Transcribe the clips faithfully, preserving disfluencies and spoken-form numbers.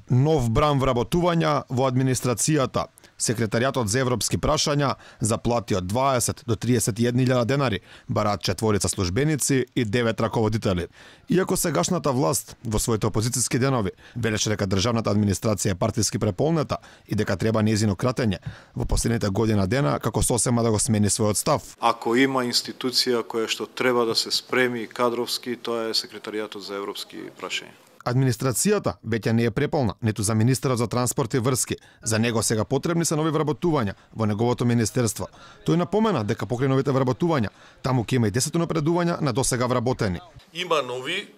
Нов бран вработувања во администрацијата. Секретаријатот за европски прашања заплати од дваесет до триесет и една илјада денари, бараат четворица службеници и девет раководители. Иако сегашната власт во своите опозициски денови велеше дека државната администрација е партиски преполнета и дека треба нејзино кратење, во последните година дена како сосема да го смени својот став. Ако има институција која што треба да се спреми кадровски, тоа е Секретаријатот за европски прашања. Администрацијата веќе не е преполна, ниту за министерот за транспорт и врски. За него сега потребни се нови вработувања во неговото министерство. Тој напомена дека покрај новите вработувања, таму ќе има и десет напредувања на досега вработени. Има нови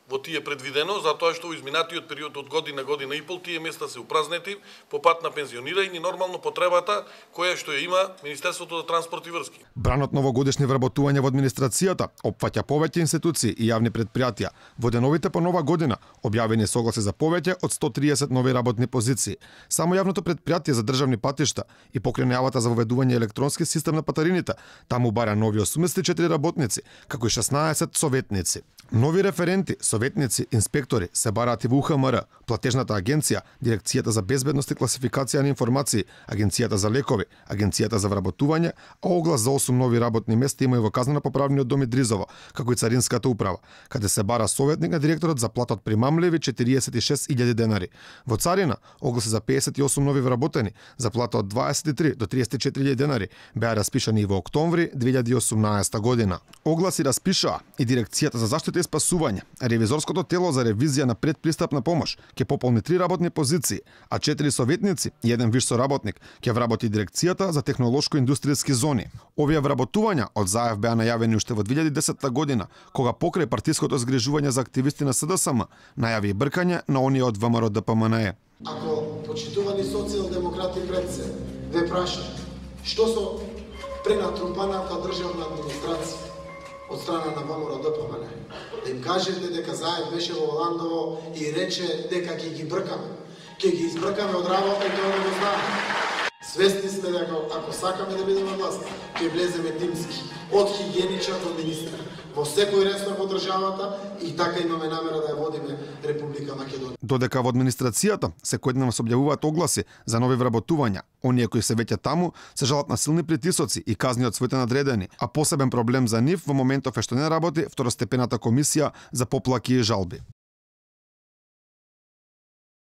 во тие предвидено, затоа што во изминатиот период од година, година и пол, тие места се упразнети по пат на пензионирање и нормално потребата која што ја има Министерството за транспорт и врски. Бранот новогодишни вработувања во администрацијата опфаќа повеќе институции и јавни предпријатија. Во деновите по нова година објавени согласи за повеќе од сто триесет нови работни позиции. Само јавното предпријатие за државни патишта и покрај најавата за воведување електронски систем на патарините, таму бара нови осумдесет и четири работници, како и шеснаесет советници. Нови референти, советници, инспектори се бараат и во У Х М Р, платежната агенција, Дирекцијата за безбедност и класификација на информации, Агенцијата за лекови, Агенцијата за вработување, а оглас за осум нови работни места има и во казнено-поправниот дом Идризово, како и Царинската управа, каде се бара советник на директорот за плата од примамливи четириесет и шест илјади денари. Во Царина огласи за пеесет и осум нови вработени, за плата од дваесет и три до триесет и четири илјади денари беа распишани и во октомври две илјади и осумнаесета година. Огласи распишаа и Дирекцијата за заштита и спасување. Ревизорското тело за ревизија на предпристапна помош ќе пополни три работни позиции, а четири советници и еден виш соработник ќе вработи Дирекцијата за технолошко-индустријски зони. Овие вработувања од заев беа најавени уште во две илјади и десета година, кога покрај партиското згрижување за активисти на С Д С М најави и бркање на оние од В М Р Д П М Н Е. Ако почитувани социјалдемократи пред се ве прашаат што со пренатрупаната државна администрација од страна на В М Р Д П М Н Е, да им кажете дека заед беше во Ландово и рече дека ќе ги бркаме. Ќе ги избркаме од работа и тоа да го знаеме. Свесни сме дека ако сакаме да бидеме власт, ќе влеземе тимски, од хигиеничар до министер, во секој ресор во државата и така имаме намера да ја водиме Република Македонија. Додека во администрацијата секојдневно се објавуваат огласи за нови вработувања, оние кои се веќе таму се жалат на силни притисоци и казни од своите надредени, а посебен проблем за нив во моментов е што не работи второстепената комисија за поплаки и жалби.